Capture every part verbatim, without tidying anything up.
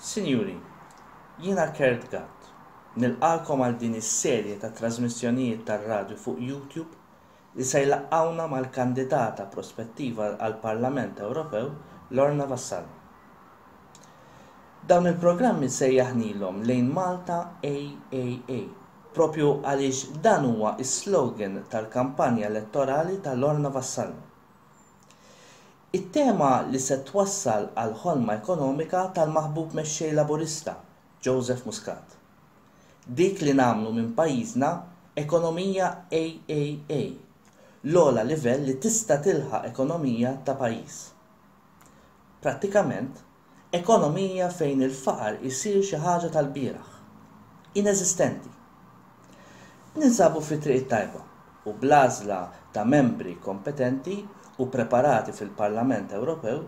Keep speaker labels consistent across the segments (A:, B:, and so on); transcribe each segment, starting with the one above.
A: Sinjuri, jiena Kurt Gatt. Nilqagħkom għal din is-serje ta' trasmissjonijiet tar-radju fuq YouTube li se jlaqqgħuna mal-kandidata prospettiva għall-Parlament Ewropew Lorna Vassallo. Dawn il-programmi sejjaħnilhom Lejn Malta A A A, propju għaliex dan huwa is-slogan tal-kampanja elettorali ta' Lorna Vassallo. It-tema li se twassal għal ħolma ekonomika tal-maħbub mexxej Laburista, Joseph Muscat. Dik li nagħmlu minn pajjiżna ekonomija A A A, l-ogħla livell li tista' tilħaq ekonomija ta' pajjiż. Prattikament, ekonomija fejn il-faqar isir xi ħaġa tal-bieraħ. Ineżistenti. Ninsabu fi triq tajba u bl-għażla ta' membri kompetenti u preparati fil-Parlament Ewropew,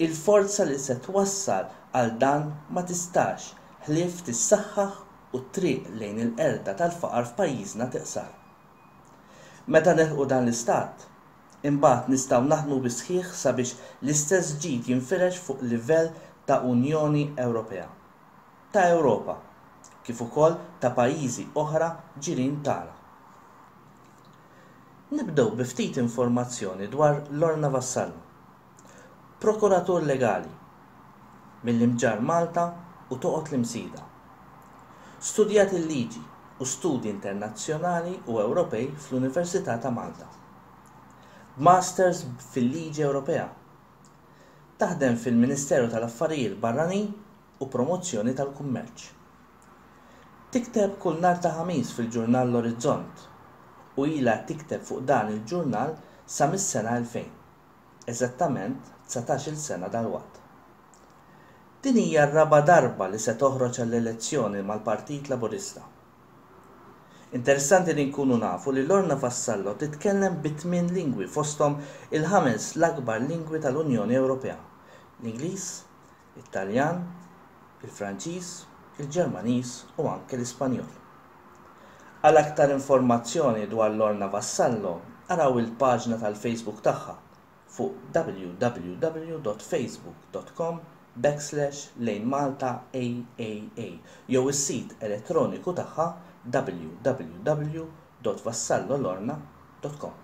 A: il-forza li se twassal għal dan ma tistax ħlief tissaħħaħ u triq lejn il-qerda tal-faqar f'pajjiżna tiqsar. Meta nilħqu dan l-istat, imbagħad nistgħu naħdmu bisħiħ sabiex l-istess ġid jinfirex fuq livell ta' Unjoni Ewropea, ta' Ewropa, kif ukoll ta' pajjiżi oħra ġirien tagħna. Nibdew bi ftit informazzjoni dwar Lorna Vassallo. Prokuratur legali mill-Imġarr Malta u toqgħod l-Imsida. Studjat il-liġi u studi internazzjonali u Ewropej fl-Università ta' Malta. Masters fil-Liġi Ewropea. Taħdem fil-Ministeru tal-Affarijiet Barranin u Promozzjoni tal-Kummerċ. Tikteb kull nhar ta' Ħamis fil-ġurnal L-Orizzont u ilha tikteb fuq dan il-ġurnal sa mis-sena elfejn, eżattament dsatax-il sena dalwaqt. Din hija r-raba' darba li se toħroġ għall-elezzjoni mal-Partit Laburista. Interessanti li nkunu nafu li Lorna Vassallo titkellem bi tmien lingwi, fosthom il-ħames l-akbar lingwi tal-Unjoni Ewropea: l-Ingliż, it-Taljan, il-Franċiż, il-Ġermaniż u anke l-Ispanjol. Għal aktar informazzjoni dwar Lorna Vassallo, araw il-paġna tal-Facebook tagħha fuq W W W dot facebook dot com backslash lejn Malta A A A jew is-sit elettroniku tagħha W W W dot vassallolorna dot com.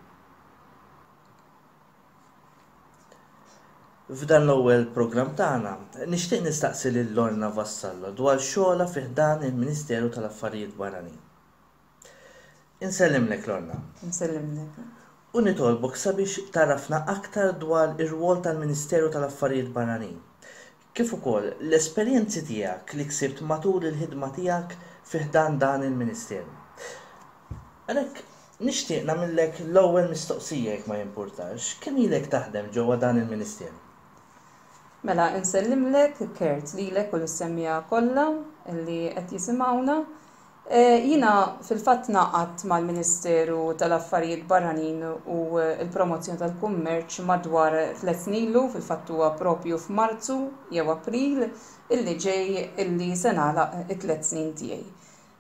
A: F'dan l-ewwel programm tagħna nixtieq nistaqsi lil Lorna Vassallo dwar xogħolha fi ħdan il-Ministeru tal-Affarijiet Barranin. Insellimlek, Lorna.
B: Nsellimlek.
A: U nitolbok sabiex tgħarrafna aktar dwar ir-rwol tal-Ministeru tal-Affarijiet Barranin, kif ukoll l-esperjenzi tiegħek li ksibt matul il-ħidma tiegħek fi ħdan dan il-Ministeru. Għalhekk nixtieq nagħmellek l-ewwel mistoqsija, jekk ma jimpurtax, kemm ilek taħdem ġewwa dan il-Ministeru?
B: Mela, insellimlek, Kurt, lilek u lis-semmiegħa kollha li qed jisimgħuna. Eh, Jiena fil-fatt ngħaqadt mal-Ministeru tal-Affarijiet Barranin u l-Promozzjoni tal-Kummerċ madwar tliet snin ilu, fil-fatt huwa propju f'Marzu jew April illi ġej illi se nagħlaq it-tliet snin tiegħi.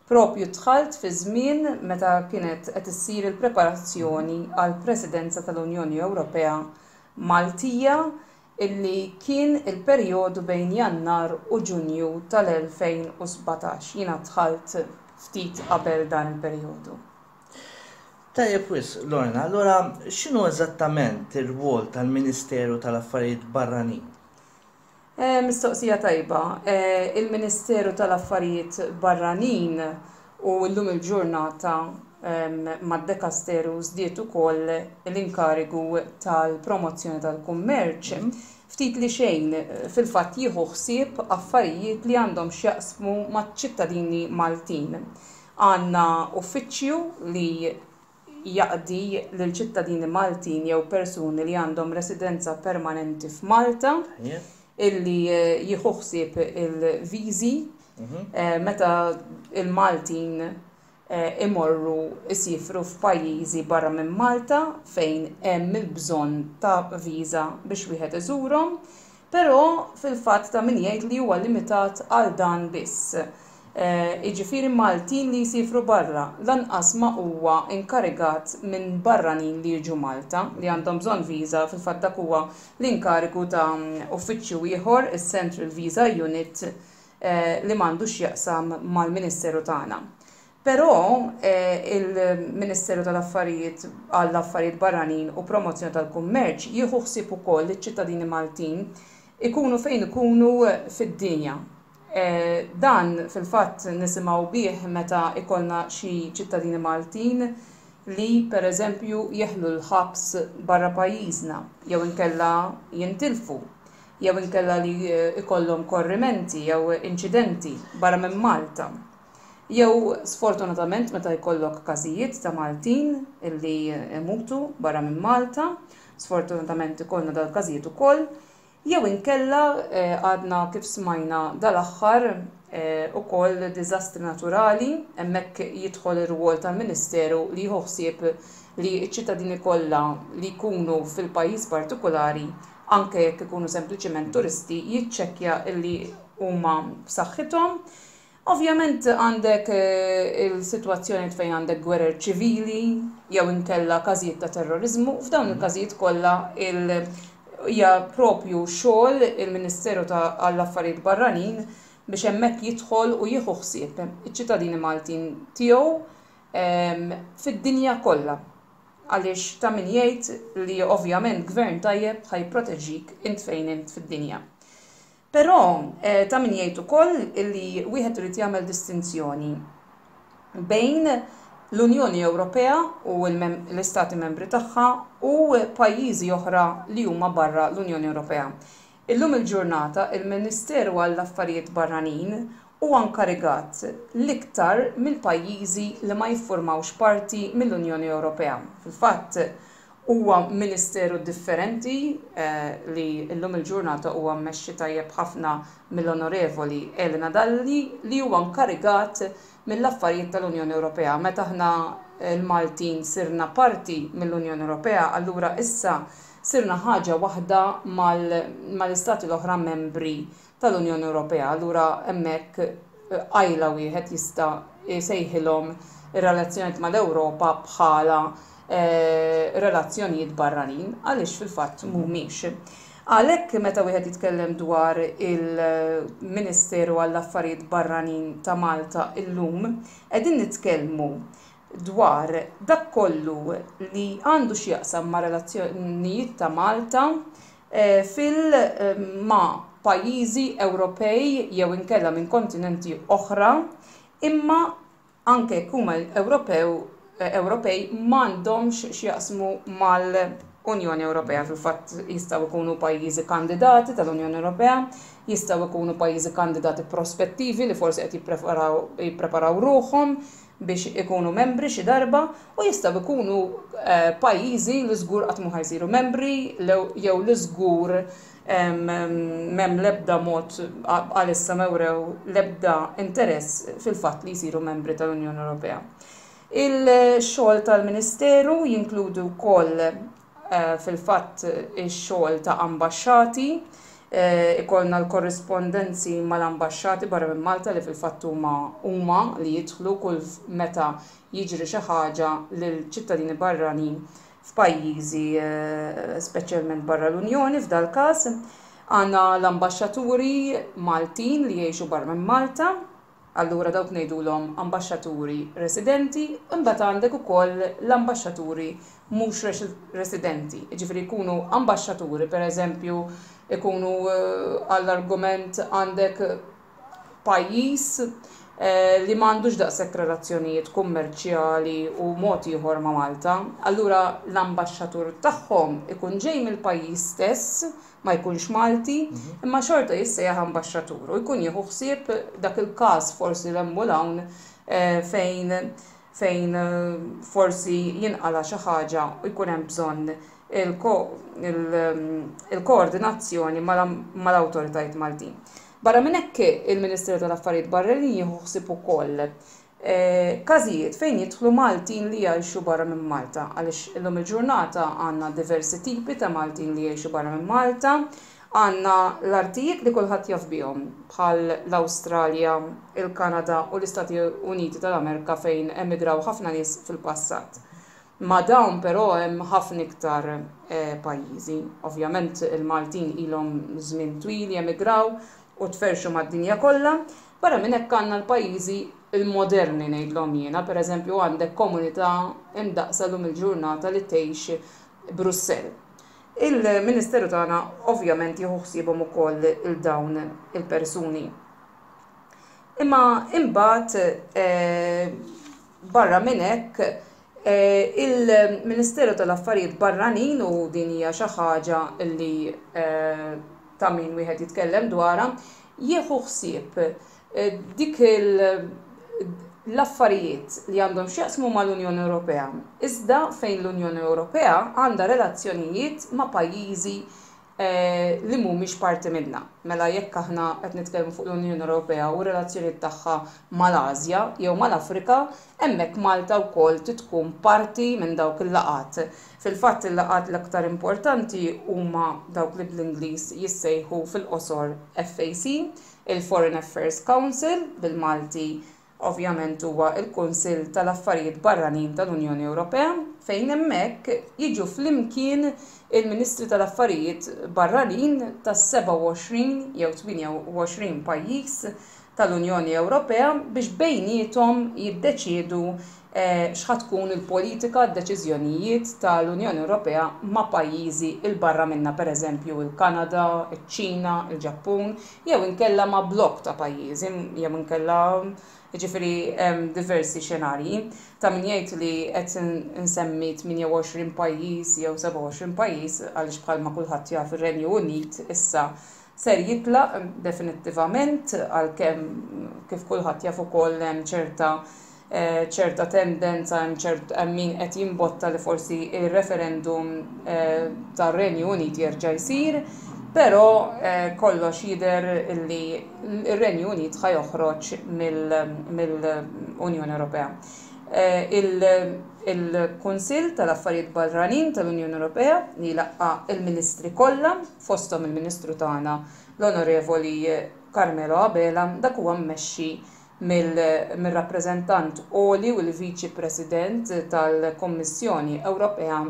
B: Propju dħalt fi żmien meta kienet qed issir il-preparazzjoni għal Presidenza tal-Unjoni Ewropea Maltija, illi kien il-perjodu bejn Jannar u Ġunju tal-elfejn u sbatax. Jiena dħalt ftit qabel dan il-perjodu.
A: Tajjeb wisq, Lorna, allura x'inhu eżattament ir-rwol tal-Ministeru tal-Affarijiet Barranin?
B: Eh, mistoqsija tajba. Eh, Il-Ministeru tal-Affarijiet Barranin, u llum il-ġurnata mad-dekasteru żdied ukoll l-inkarigu tal-promozzjoni tal-kummerċ, ftit li xejn fil-fatt jieħu ħsieb affarijiet li għandhom x'jaqsmu maċ-ċittadini Maltin. Għandna uffiċċju li jaqdi lil ċittadini Maltin jew persuni li għandhom residenza permanenti f'Malta, illi jieħu ħsieb il-viżi eh, meta il-Maltin eh, imorru isifru f'pajjiżi barra minn Malta fejn hemm il-bżonn ta' viża biex wieħed iżurhom, però fil-fatt ta' min jgħid li huwa limitat għal dan biss. Eh, Jiġifieri Maltin li jsifru barra, lanqas ma huwa inkarigat minn barranin li jiġu Malta li għandhom bżonn viża. Fil-fatt dak huwa l-inkarigu ta' uffiċċju ieħor, is-Central Visa Unit. li m'għandux x'jaqsam mal-Ministeru tagħna. Però il-Ministeru tal-Affarijiet għall-Affarijiet Barranin u Promozzjoni tal-Kummerċ jieħu ħsieb ukoll iċ-ċittadini Maltin ikunu fejn ikunu fid-dinja. Dan fil-fatt nisimgħu bih meta ikollna xi ċittadini Maltin li pereżempju jeħlu l-ħabs barra pajjiżna jew inkella jintilfu jew inkella li ikollhom korrimenti jew inċidenti barra minn Malta. Jew sfortunatament meta jkollok każijiet ta' Maltin illi imutu barra minn Malta, sfortunatament ikollna dal-każijiet ukoll, jew inkella għadna kif smajna dal-aħħar ukoll diżastri naturali, hemmhekk jidħol ir-rwol tal-Ministeru li jieħu ħsieb li ċ-ċittadini kollha li jkunu fil-pajjiż partikolari, anke jekk ikunu sempliċement turisti, jiċċekkja illi huma b'saħħithom. Ovvjament għandek il-sitwazzjoni fejn għandek gwerer ċivili jew inkella każijiet ta' terrorizmu, f'dawn il-każijiet kollha hija propju xogħol il-Ministeru għall-Affarijiet Barranin biex hemmhekk jidħol u jieħu ħsieb iċ-ċittadini Maltin tiegħu fid-dinja kollha. Għaliex ta' min jgħid li ovvjament gvern tajjeb ħa jipproteġik int fejn int fid-dinja. Però ta' min jgħid ukoll li wieħed irid jagħmel distinzjoni bejn l-Unjoni Ewropea u l-Istati Membri tagħha u pajjiżi oħra li huma barra l-Unjoni Ewropea. Illum il-ġurnata il-Ministeru għall-Affarijiet Barranin huwa nkarigat l-iktar mill-pajjiżi li ma jiffurmawx parti mill-Unjoni Ewropea. Fil-fatt huwa ministeru differenti li llum il-ġurnata huwa mmexxi tajjeb ħafna mill-Onorevoli Elena Dalli li huwa nkarigat mill-affarijiet tal-Unjoni Ewropea. Meta aħna l-Maltin sirna parti mill-Unjoni Ewropea, allura issa sirna ħaġa waħda mal-istati l-oħra membri tal-Unjoni Ewropea. Allura hemmhekk qajla wieħed jista' jsejħilhom ir-relazzjonijiet mal-Ewropa bħala relazzjonijiet barranin, għaliex fil-fatt mhumiex. Għalhekk meta wieħed jitkellem dwar il-Ministeru għall-Affarijiet Barranin ta' Malta illum, qegħdin nitkellmu dwar dak kollu li għandu x'jaqsam ma' relazzjonijiet ta' Malta fil ma' pajjiżi Ewropej jew inkella minn kontinenti oħra, imma anke jekk huma Ewropew Ewropej m'għandhomx x'jaqsmu mal-Unjoni Ewropea. Fil-fatt jistgħu jkunu pajjiżi kandidati tal-Unjoni Ewropea, jistgħu jkunu pajjiżi kandidati prospettivi li forsi qed jippreparaw ruħhom biex ikunu membri xi darba, u jistgħu jkunu pajjiżi li żgur qatt mhu ħa jsiru membri jew li żgur m'hemm l-ebda mod għalissa m'wrew l-ebda interess fil-fatt li jsiru membri tal-Unjoni Ewropea. Il-xogħol tal-Ministeru jinkludi wkoll fil-fatt ix-xogħol ta' ambaxxati, ikollna l-korrispondenzi mal-ambaxxati barra minn Malta li fil-fatt huma huma li jidħlu kull meta jiġri xi ħaġa lil ċittadini barranin f'pajjiżi speċjalment barra l-Unjoni f'dal każ. Għandna l-ambaxxaturi Maltin li jgħixu barra minn Malta, allura dawk ngħidulhom ambaxxaturi residenti, imbagħad għandek ukoll l-ambaxxaturi mhux residenti, jiġifieri jkunu ambaxxaturi pereżempju ikunu għall-argument għandek pajjiż li m'għandux daqshekk relazzjonijiet kummerċjali u mod ieħor ma' Malta, allura l-ambaxxatur tagħhom ikun ġej mill-pajjiż stess, ma jkunx Malti, imma xorta jissejjaħ ambaxxatur u jkun jieħu ħsieb dak il-każ forsi 'l hemm u 'l hawn fejn fejn forsi jinqala' xi ħaġa u jkun hemm bżonn il-koordinazzjoni mal-awtoritajiet Maltin. Barra minn hekk il-Ministeru tal-Affarijiet Barranin jieħu ħsieb ukoll każijiet fejn jidħlu Maltin li jgħixu barra minn Malta, għaliex illum il-ġurnata għandna diversi tipi ta' Maltin li jgħixu barra minn Malta, għandna l-artijiet li kulħadd jaf bihom bħal l-Awstralja, il-Kanada u l-Istati Uniti tal-Amerika fejn emigraw ħafna nies fil-passat. Ma' dawn però hemm ħafna iktar pajjiżi. Ovvjament il-Maltin ilhom żmien twil jemigraw u tferrxu mad-dinja kollha. Barra minn hekk għandna l-pajjiżi il-moderni ngħidlhom jiena, pereżempju għandek komunità imdaqsa llum il-ġurnata li tgħix Brussell. Il-Ministeru tagħna ovvjament jieħu ħsiebhom ukoll il dawn il-persuni. Imma imbagħad eh, barra minn hekk eh, il-Ministeru tal-Affarijiet Barranin, u din hija xi ħaġa li eh, ta' min wieħed jitkellem dwarha, jieħu ħsieb dik l-affarijiet li għandhom x'jaqsmu mal-Unjoni Ewropea. Iżda fejn l-Unjoni Ewropea għandha relazzjonijiet ma' pajjiżi eh, li mhumiex parti minnha. Mela jekk aħna qed nitkellmu fuq l-Unjoni Ewropea u relazzjonijiet tagħha mal-Asja jew mal-Afrika, hemmhekk Malta wkoll tkun parti minn dawk il-laqgħat. Fil-fatt il-laqgħat l-aktar importanti huma dawk li bl-Ingliż jissejħu fil-qosor F A C, il-Foreign Affairs Council, bil-Malti ovvjament huwa il-Kunsill tal-Affarijiet Barranin tal-Unjoni Ewropea, fejn hemmhekk jiġu flimkien il-Ministri tal-Affarijiet Barranin tas-sebgħa u għoxrin jew tmienja u għoxrin pajjiż tal-Unjoni Ewropea biex bejniethom jiddeċiedu eh, x'ħa tkun il-politika, d-deċiżjonijiet tal-Unjoni Ewropea ma' pajjiżi 'il barra minna, pereżempju il-Kanada, iċ-Ċina, il-Ġappun, jew inkella ma' blok ta' pajjiżi, jew inkella, jiġifieri, hemm diversi xenarji. Ta' min jgħid li qed insemmi tmienja u għoxrin pajjiż jew sebgħa u għoxrin pajjiż għaliex bħalma kulħadd jaf, ir-Renju Unit issa ser jitlaq definittivament, għalkemm kif kulħadd jaf ukoll hemm ċerta eh, ċerta tendenza, hemm ċert hemm min qed jimbotta li forsi il-referendum eh, tar-Renju Unit jerġa' jsir, però eh, kollox jidher li r-Renju Unit ħa joħroġ mill-Unjoni Ewropea. Il-Kunsill tal-Affarijiet Barranin tal-Unjoni Ewropea li laqqa il-Ministri kollha, fosthom il-Ministru tagħna, l-Onorevoli Carmelo Abela, dak huwa mmexxi mill-rappreżentant għoli u l-Viċi President tal-Kommissjoni Ewropea,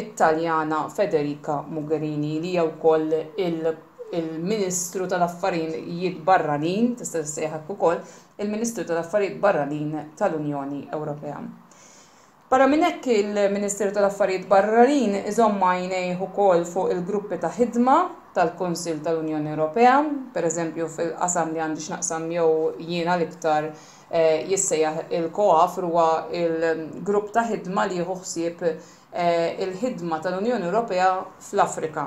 B: Italjana Federica Mogherini, li hija wkoll il-Ministru tal-Affarijiet Barranin, tista' tissejjaħ ukoll il-Ministru tal-Affarijiet Barranin tal-Unjoni Ewropea. Barra minn hekk, il-Ministeru tal-Affarijiet Barranin iżomm għajnejh ukoll fuq il-gruppi ta' ħidma tal-Kunsill tal-Unjoni Ewropea, pereżempju fil-qasam li għandi x'naqsam jew jiena l-iktar eh, jissejjaħ il-COAFR, huwa il-grupp ta' ħidma li jieħu ħsieb eh, il-ħidma tal-Unjoni Ewropea fl-Afrika.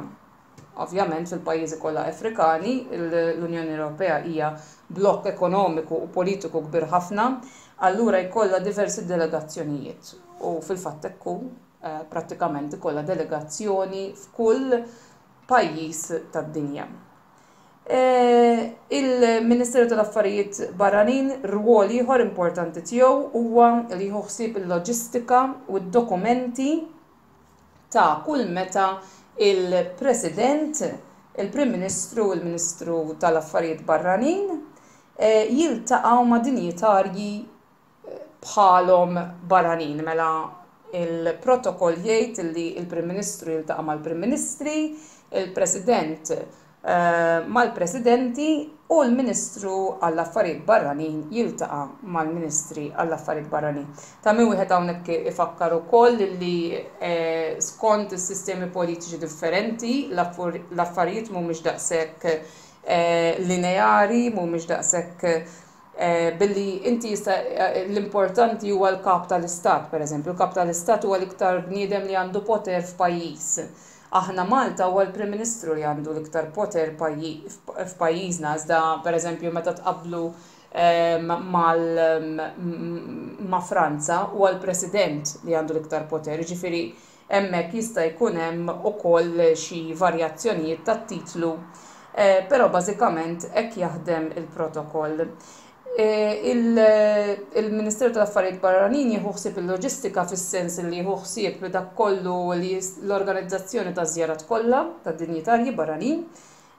B: Ovvjament fil-pajjiżi kollha Afrikani, l-Unjoni Ewropea hija blokk ekonomiku u politiku kbir ħafna, allura jkollha diversi delegazzjonijiet u fil-fatt ekku eh, prattikament ikollha delegazzjoni f'kull pajjiż tad-dinja. Eh, Il-Ministeru tal-Affarijiet Barranin rwol ieħor importanti tiegħu huwa li jieħu ħsieb il-loġistika u d-dokumenti ta' kull meta il-President, il-Prim Ministru u l-Ministru tal-Affarijiet Barranin eh, jiltaqgħu ma' dinjitarji bħalhom barranin. Mela il-protokoll jgħid li il-Prim Ministru jiltaqa' mal-Prim Ministri, il-President eh, mal-Presidenti u l-Ministru għall-Affarijiet Barranin jiltaqa' mal-Ministri għall-Affarijiet Barranin. Ta' min wieħed hawnhekk ifakkar ukoll li eh, skont is-sistemi politiċi differenti l-affarijiet mhumiex daqshekk eh, lineari, mhumiex daqshekk Eh, billi inti jista' eh, l-importanti huwa l-kap tal-istat, per eżempju, il-kap tal-istat huwa l-iktar bniedem li għandu poter f'pajjiż. Aħna Malta huwa l-Prim Ministru li għandu l-iktar poter f'pajjiżna, iżda per eżempju meta tqablu eh, mal ma' Franza huwa l-President li għandu l-iktar poter, ġifieri hemmhekk jista' jkun hemm ukoll xi varjazzjonijiet tat-titlu, però bażikament hekk jaħdem il-protokoll. Eh, il-Ministeru tal-Affarijiet Barranin jieħu ħsieb il-loġistika fis-sens li jieħu ħsieb dak kollu li l-organizzazzjoni ta' żjarat kollha ta' dinjitarji barranin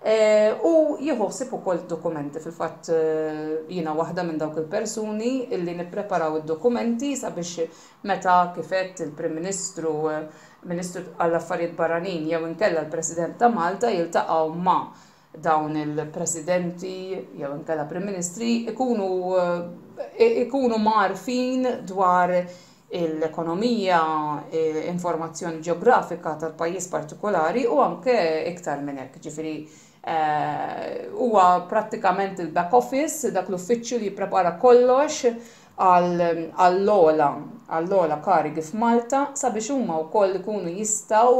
B: eh, u jieħu ħsieb ukoll dokumenti. Fil-fatt eh, jiena waħda minn dawk il-persuni illi nippreparaw id-dokumenti sabiex meta, kif għedt, il-Prim Ministru, Ministru għall-Affarijiet Barranin jew inkella l-President ta' Malta jiltaqgħu ma' Dawn il-presidenti jew inkella prim ministri ikunu ikunu mgħarrfin dwar l-ekonomija, informazzjoni ġeografika tal-pajjiż partikolari u anke iktar minn hekk. Ġifieri huwa prattikament il-back office, dak l-uffiċċju li jipprepara kollox għall-ogħla għall-ogħla karigi f'Malta sabiex huma wkoll ikunu jistgħu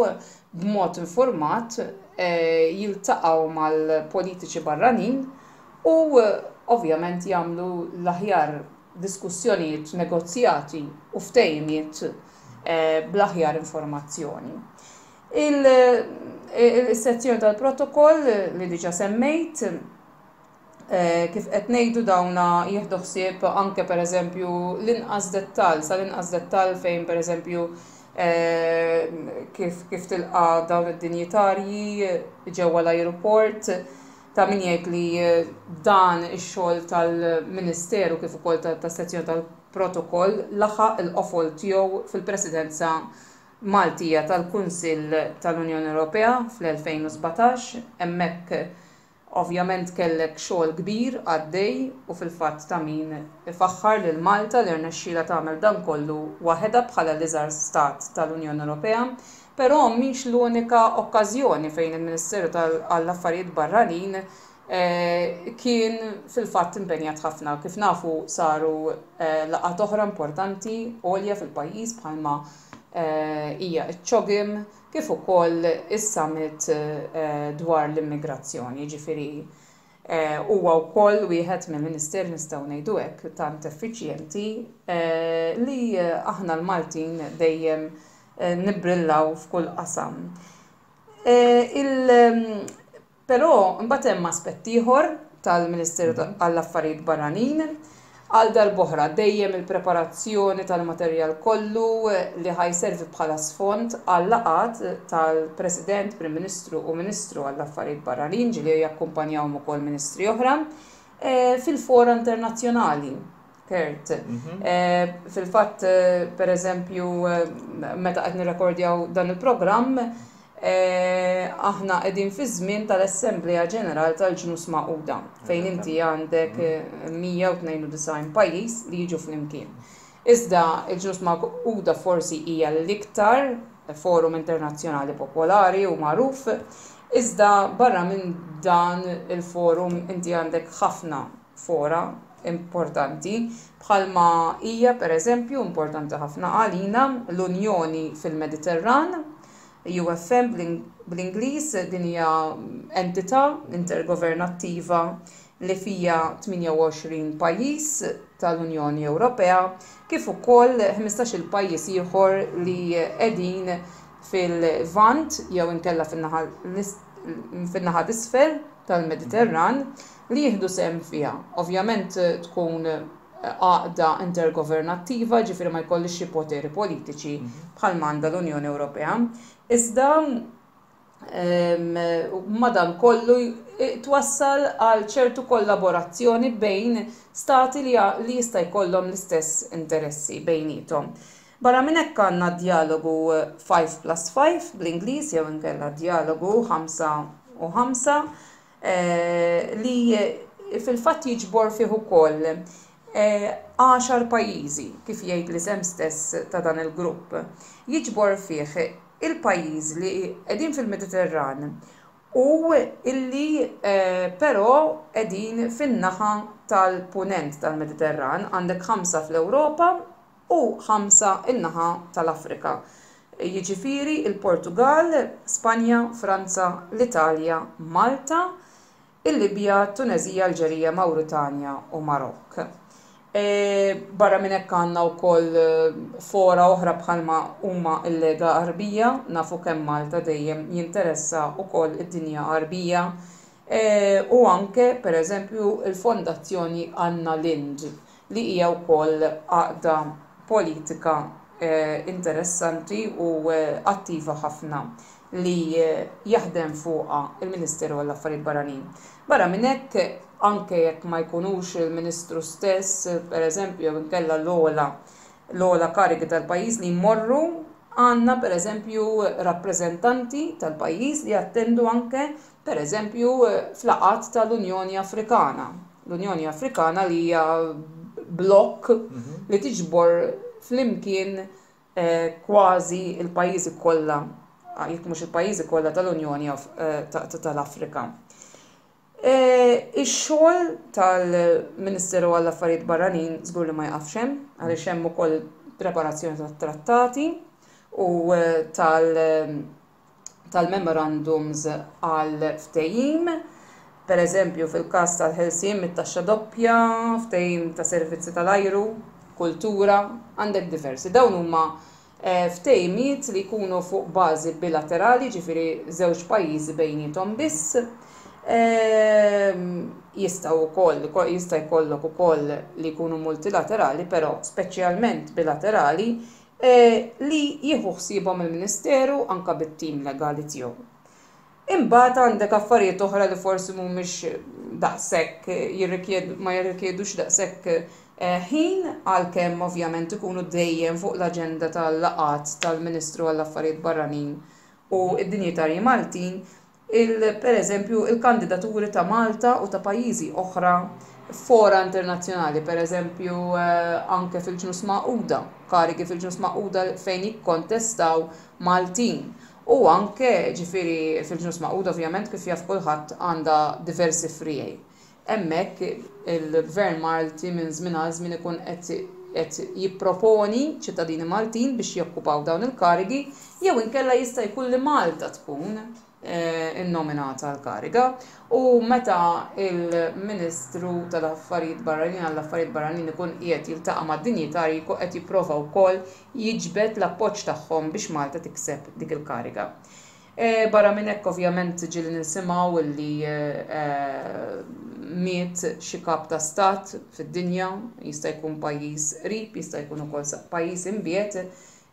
B: b'mod informat jiltaqgħu mal-politiċi barranin u ovvjament jagħmlu l-aħjar diskussjonijiet, negozjati u ftehimiet bl-aħjar informazzjoni. Il-sezzjoni tal-protokoll li diġa semmejt, kif qed ngħidu, dawna jieħdu ħsieb anke pereżempju l-inqas dettall, sal-inqas dettall, fejn pereżempju kif kif tilqa' dawn id-dinjitarji ġewwa l-ajruport. Ta' min jgħid li dan ix-xogħol tal-Ministeru kif ukoll tas-sezzjoni tal-protokoll laħaq il-qofol tiegħu fil-Presidenza Maltija tal-Kunsill tal-Unjoni Ewropea fl-elfejn u sbatax. Hemmhekk ovvjament kellek xogħol kbir għaddej u fil-fatt ta' min ifaħħar lil Malta li rnexxielha tagħmel dan kollu waħedha bħala l-iżgħar stat tal-Unjoni Ewropea. Però mhix l-unika okkażjoni fejn il-Ministeru għall-Affarijiet Barranin kien fil-fatt impenjat ħafna. Kif nafu, saru laqgħat oħra importanti għolja fil-pajjiż bħalma hija ċ-CHOGM kif ukoll is-summit dwar l-immigrazzjoni. Ġifieri huwa wkoll wieħed mill-ministeri, nistgħu ngħidu hekk, tant effiċjenti li aħna l-Maltin dejjem nibbrillaw f'kull qasam. Però mbagħad hemm aspett ieħor tal-Ministeru għall-Affarijiet Barranin. Għal darb'oħra dejjem il-preparazzjoni tal-materjal kollu li ħa jservi bħala sfond għal laqgħat tal-President, Prim Ministru u Ministru għall-Affarijiet Barranin, ġieli jakkumpanjawhom ukoll ministri oħra, fil-fora internazzjonali. Kurt. Fil-fatt, per eżempju, meta qed nirrekordjaw dan il-programm, aħna qegħdin fi żmien tal-Assemblea Ġenerali tal-Ġnus Magħquda, fejn inti għandek mija u tnejn u disgħin pajjiż li jiġu flimkien. Iżda il-Ġnus Magħquda forsi hija l-iktar forum internazzjonali popolari u magħruf, iżda barra minn dan il-forum inti għandek ħafna fora importanti, bħalma hija pereżempju importanti ħafna għalina l-Unjoni fil-Mediterran, U F M bl-Ingliż. Din hija entità intergovernattiva li fija tmienja u għoxrin pajjiż tal-Unjoni Ewropea kif ukoll ħmistax-il pajjiż ieħor li qegħdin fil-Lvant jew inkella fin-naħa t'isfel tal-Mediterran li jieħdu sehem fiha. Ovvjament tkun għaqda intergovernattiva, ġifieri ma jkollix xi poteri politiċi bħal m'għandha l-Unjoni Ewropea. Iżda madan kollu twassal għal ċertu kollaborazzjoni bejn stati li, li jista' jkollhom l-istess interessi bejniethom. Barra minn hekk għandna dialogu five plus five bl-Ingliż jew inkella dialogu ħamsa u ħamsa, li fil-fatt jiġbor fih ukoll għaxar pajjiżi, kif jgħid l-isem stess ta' dan il-grupp. Jiġbor fih il-pajjiż li qegħdin fil-Mediterran u illi però qegħdin fin-naħa tal-punent tal-Mediterran. Għandek ħamsa fl-Ewropa u ħamsa in-naħa tal-Afrika. Jiġifieri il-Portugal, Spanja, Franza, l-Italja, Malta, il-Libja, Tunezija, Alġerija, Mauritania u Marokk. Barra minn hekk għandna wkoll fora oħra bħalma huma l-Lega Għarbija, nafu kemm Malta dejjem jinteressa wkoll id-dinja Għarbija, u anke pereżempju il-Fondazzjoni Anna Lindh, li hija wkoll għaqda politika interessanti u attiva ħafna li jaħdem fuqha il-Ministeru għall-Affarijiet Barranin. Barra minn hekk, anke jekk ma jkunux il-Ministru stess, pereżempju, jew inkella l-ogħla l-ogħla karigi tal-pajjiż li jmorru Għandna pereżempju rappreżentanti tal-pajjiż li jattendu anke pereżempju f'laqgħat tal-Unjoni Afrikana. L-Unjoni Afrikana li hija blokk li tiġbor flimkien kważi l-pajjiżi kollha, jekk mhux il-pajjiżi kollha tal-Unjoni tal-Afrika. Ix-xogħol tal-Ministeru għall-Affarijiet Barranin żgur li ma jaqafx hemm, għaliex hemm ukoll preparazzjoni tat-trattati u tal-memorandums għal ftehim, per eżempju fil-każ tal-ħelsien mit-taxxa doppja, ftehim ta' servizzi tal-ajru, kultura, għandek diversi. Dawn huma ftehimiet li jkunu fuq bażi bilaterali, ġifieri żewġ pajjiżi bejniethom biss. Jistgħu wkoll, jista' jkollok ukoll li jkunu multilaterali, però speċjalment bilaterali, li jieħu ħsiebhom il-Ministeru anke bit-tim legali tiegħu. Imbagħad għandek affarijiet oħra li forsi mhumiex daqshekk jirrikjedu ma jirrikjedux daqshekk ħin, għalkemm ovvjament ikunu dejjem fuq l-aġenda tal-laqgħat tal-Ministru għall-Affarijiet Barranin u d-dinjitarji Maltin, il, per eżempju, il-kandidaturi ta' Malta u ta' pajjiżi oħra fora internazzjonali, per eżempju anke fil-Ġnus Magħquda, karigi fil-Ġnus Magħquda fejn jikkontestaw Maltin. U anke ġifieri fil-Ġnus Magħquda ovvjament kif jaf kulħadd għandha diversi friegħi. Hemmhekk il-Gvern Malti minn żmien għal żmien ikun qed jipproponi ċittadini Maltin biex jokkupaw dawn il-karigi, jew inkella jista' jkun li Malta tkun innominata għal-kariga, u meta il-Ministru tal-Affarijiet Barranin għall-Affarijiet Barranin ikun qiegħed jiltaqa' mad-dinjitarji jkun qed jipprova wkoll jiġbed l-appoġġ tagħhom biex Malta tikseb dik il-kariga. Barra minn hekk ovvjament ġieli nisimgħu li miet xi kap ta' stat fid-dinja, jista' jkun pajjiż qrib, jista' jkun ukoll pajjiż imbiegħed,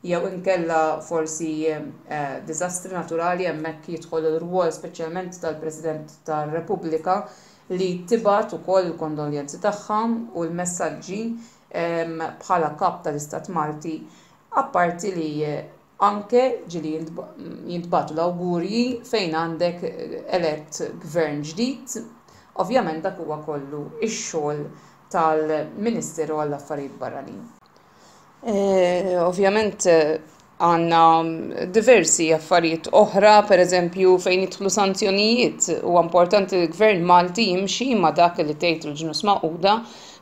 B: jew inkella forsi diżastri naturali. Hemmhekk jidħol ir-rwol speċjalment tal-President tar-Repubblika li tibgħat ukoll il-kondoljanzi tagħha u l-messaġġi bħala kap tal-Istat Malti, apparti li anke ġieli jintbagħtu l-awgurji fejn għandek elett gvern ġdid. Ovvjament dak huwa kollu ix-xogħol tal-Ministeru għall-Affarijiet Barranin. Ovvjament għandna diversi affarijiet oħra, per eżempju fejn jidħlu sanzjonijiet. Huwa importanti li l-Gvern Malti jimxi ma' dak li tgħid il-Ġnus Magħquda,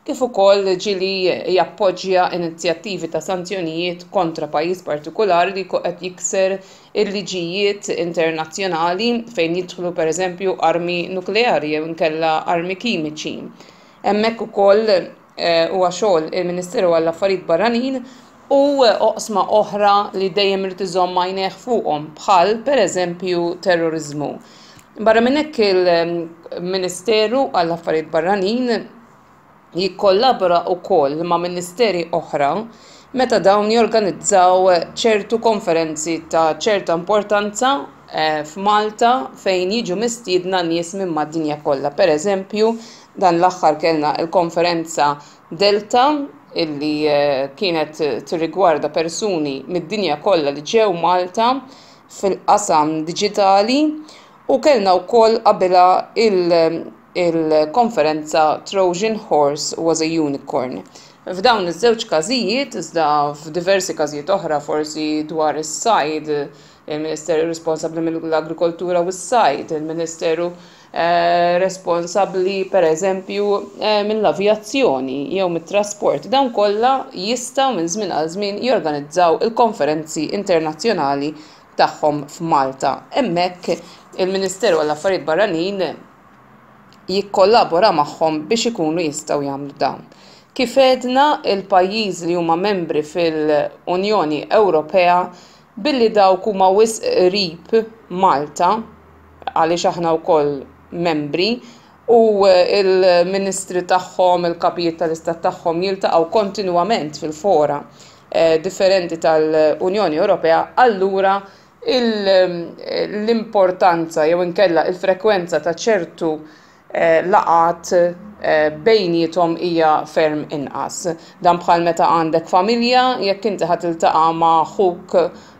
B: kif ukoll ġieli jappoġġja inizjattivi ta' sanzjonijiet kontra pajjiż partikolari li qed jikser il-liġijiet internazzjonali fejn jidħlu per eżempju armi nukleari jew inkella armi kimiċi. Hemmhekk ukoll huwa xogħol il-Ministeru għall-Affarijiet Barranin u oqsma oħra li dejjem irid iżomm għajnejh fuqhom, bħal pereżempju terrorizmu. Barra minn hekk il-Ministeru għall-Affarijiet Barranin jikkollabora wkoll ma' ministeri oħra meta dawn jorganizzaw ċertu konferenzi ta' ċerta importanza f'Malta fejn jiġu mistiedna nies minn mad-dinja kollha. Per eżempju, dan l-aħħar kellna l-konferenza Delta illi kienet tirrigwarda persuni mid-dinja kollha li ġew Malta fil-qasam diġitali, u kellna wkoll qabilha il-konferenza Trojan Horse was a Unicorn. F'dawn iż-żewġ każijiet, iżda f'diversi każijiet oħra forsi dwar is-sajd, il-Ministeru responsabbli mill-Agrikoltura u s-Sajd, il-Ministeru responsabbli per eżempju mill-avjazzjoni jew mit-trasport, dawn kollha jistgħu minn żmien għal żmien jorganizzaw il-konferenzi internazzjonali tagħhom f'Malta. Hemmhekk il-Ministeru għall-Affarijiet Barranin jikkollabora magħhom biex ikunu jistgħu jagħmlu dawn. Kif għedna, il-pajjiż li huma membri fil-Unjoni Ewropea billi dawk huma wisq qrib Malta, għaliex aħna wkoll membri, u il-ministri tagħhom, il-kapijiet tal-istat tagħhom jiltaqgħu kontinwament fil-fora differenti tal-Unjoni Ewropea, allura l-importanza jew inkella il-frekwenza ta' ċertu laqgħat bejniethom hija ferm inqas. Dan bħal meta għandek familja, jekk inti ħa tiltaqa' ma' ħuk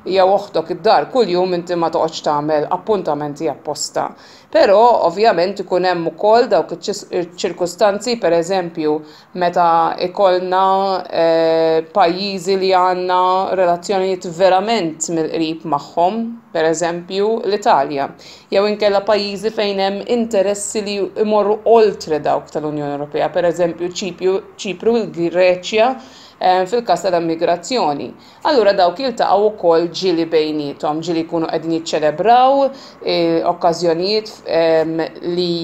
B: jew oħtok id-dar kuljum, inti ma toqgħodx tagħmel appuntamenti apposta. Però ovvjament ikun hemm ukoll dawk iċ-ċirkustanzi, pereżempju meta ikollna eh, pajjiżi li għandna relazzjonijiet verament mill-qrib magħhom, pereżempju l-Italja, jew inkella pajjiżi fejn hemm interessi li jmorru oltre dawk tal-Unjoni Ewropea, pereżempju Ċipru, il-Greċja, eh, fil-każ tal-immigrazzjoni. Allura dawk jiltaqgħu wkoll ġieli bejniethom, ġieli jkunu qegħdin jiċċelebraw eh, okkażjonijiet li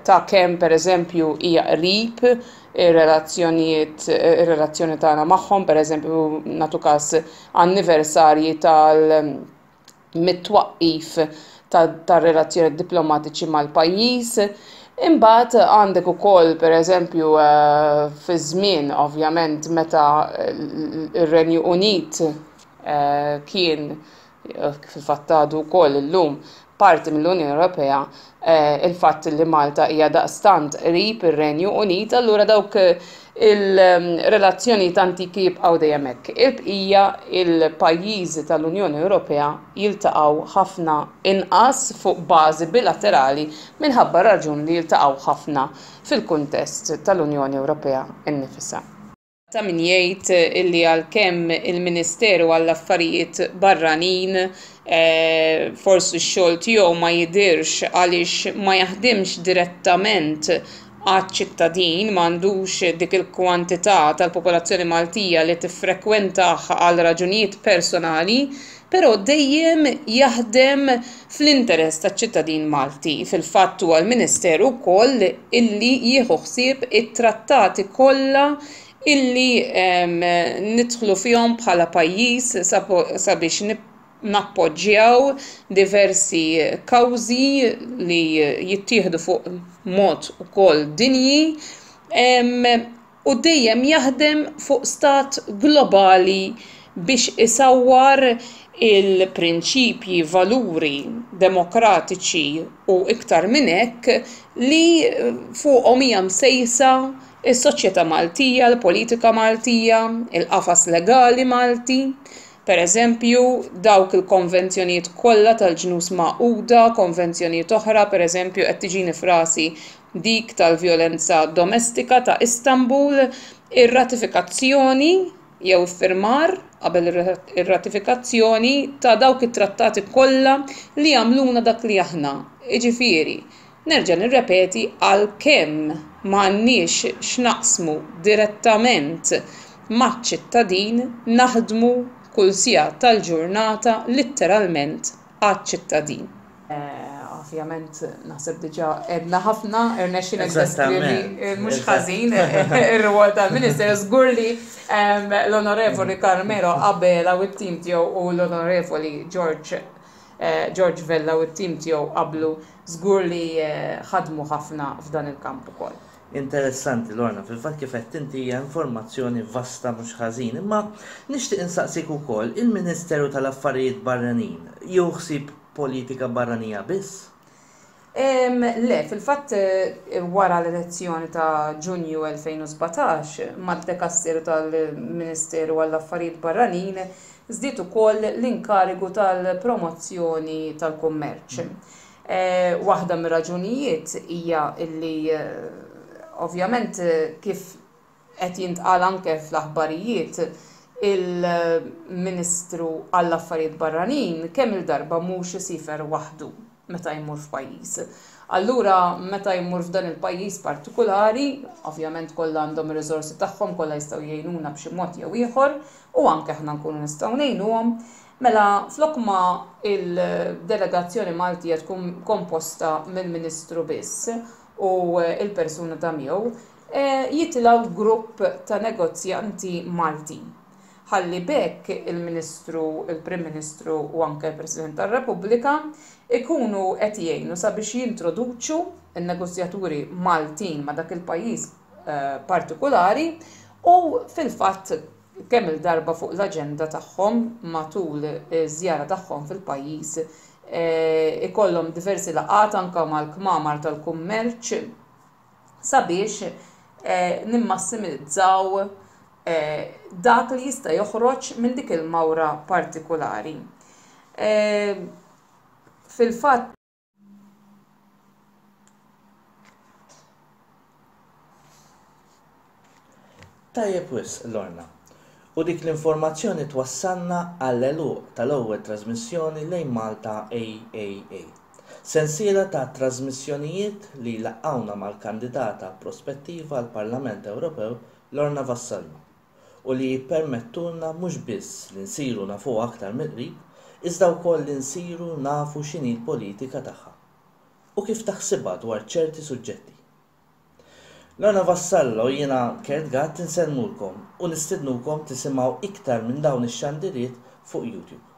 B: ta' kemm, pereżempju, hija qrib ir-relazzjonijiet, ir-relazzjoni tagħna magħhom, pereżempju nagħtu każ anniversarji tal mit-twaqqif tar-relazzjoni diplomatiċi mal-pajjiż. Imbagħad għandek ukoll, pereżempju, eh, fi żmien ovvjament meta ir-Renju Unit eh, kien, fil-fatt għadu wkoll illum, parti mill-Unjoni Ewropea, eh, il-fatt li Malta hija daqstant qrib ir-Renju Unit, allura dawk il-relazzjoni antiki jibqgħu dejjem hekk. Il-bqija il-pajjiżi tal-Unjoni Ewropea jiltaqgħu ħafna inqas fuq bażi bilaterali minħabba raġun li jiltaqgħu ħafna fil-kuntest tal-Unjoni Ewropea innifisha. Ta' min jgħid illi għalkemm il-Ministeru għall-Affarijiet Barranin eh, forsi x-xogħol tiegħu ma jidirx għaliex ma jaħdimx direttament għaċ-ċittadin, m'għandux dik il-kwantità tal-popolazzjoni Maltija li tiffrekwentah għal raġunijiet personali, però dejjem jaħdem fl-interess taċ-ċittadin Malti. Fil-fatt huwa l-Ministeru wkoll illi jieħu ħsieb it-trattati kollha illi nidħlu fihom bħala pajjiż sabiex nappoġġjaw diversi kawżi li jittieħdu fuq mod ukoll dinji u dejjem jaħdem fuq stat globali biex isawwar il-prinċipji, valuri demokratiċi u iktar minn hekk li fuqhom hija msejsa is-soċjetà Maltija, l-politika Maltija, il-qafas legali Malti. Per eżempju, dawk il-konvenzjonijiet kollha tal-Ġnus Magħquda, konvenzjonijiet oħra, per eżempju qed tiġini f'rasi dik tal-vjolenza domestika ta' Istanbul, ir-ratifikazzjoni jew iffirmar qabel ir-ratifikazzjoni ta' dawk it-trattati kollha li jagħmluna dak li aħna. Jiġifieri, nerġa' nirrepeti, għalkemm m'għandniex x'naqsmu direttament maċ-ċittadin, naħdmu kull siegħa tal-ġurnata litteralment għaċ-ċittadin. Ovvjament naħseb diġà għedna ħafna, irnexxielek deskrivi mhux ħażin ir-rwol tal-Ministeru. Żgur li l-Onorevoli Carmelo Abela u t-tim tiegħu u l-Onorevoli George George Vella u t-tim tiegħu qablu żgur li ħadmu ħafna f'dan il-kamp ukoll.
A: Interessanti, Lorna, fil-fatt kif qed inti hija informazzjoni vasta mhux ħażin, imma nixtieq insaqsik ukoll, il-Ministeru tal-Affarijiet Barranin jieħu ħsieb politika barranija biss?
B: Le, fil-fatt wara l-elezzjoni ta' Ġunju elfejn u sbatax, mad-dekasteru tal-Ministeru għall-Affarijiet Barranin żdied ukoll l-inkarigu tal-promozzjoni tal-kummerċ. Waħda mir-raġunijiet hija illi ovvjament, kif qed jintqal anke fl-aħbarijiet, il-Ministru għall-Affarijiet Barranin kemm il-darba mhux isifer waħdu meta jmur f'pajjiż. Allura meta jmur f'dan il-pajjiż partikolari, ovvjament kollha għandhom ir-riżorsi tagħhom, kollha jistgħu jgħinuna b'xi mod jew ieħor u anke aħna nkunu nistgħu ngħinuhom. Mela flok ma il-delegazzjoni Maltija tkun komposta mill-Ministru biss u il-persuna ta' miegħu, jitilgħu grupp ta' negozjanti Maltin. Ħalli b'hekk il-Ministru, il-Prim Ministru u anke il-President tar-Repubblika ikunu qed jgħinu sabiex jintroduċu n-negozjaturi Maltin ma' dak il-pajjiż partikolari u fil-fatt kemm il-darba fuq l-aġenda tagħhom matul iż-żjara tagħhom fil-pajjiż ikollhom diversi laqgħat anke mal-kmamar tal-kummerċ sabiex nimmassimizzaw dak li jista' joħroġ minn dik il-mawra partikulari. Fil-fatt,
A: Tajjeb wisq, Lorna. U dik l-informazzjoni twassalna għall-għeluq tal-ewwel trażmissjoni Lejn Malta A A A. Sensiela ta' trażmissjonijiet li laqqgħuna mal-kandidata prospettiva għall-Parlament Ewropew Lorna Vassallo u li jippermettulna mhux biss li nsiru nafuha aktar mill-qrib, iżda wkoll li nsiru nafu x'inhi l-politika tagħha u kif taħsibha dwar ċerti suġġetti. Lorna Vassallo, jiena Kurt Gatt, insellmulkom u nistednukom tisimgħu iktar minn dawn ix-xandiriet fuq YouTube.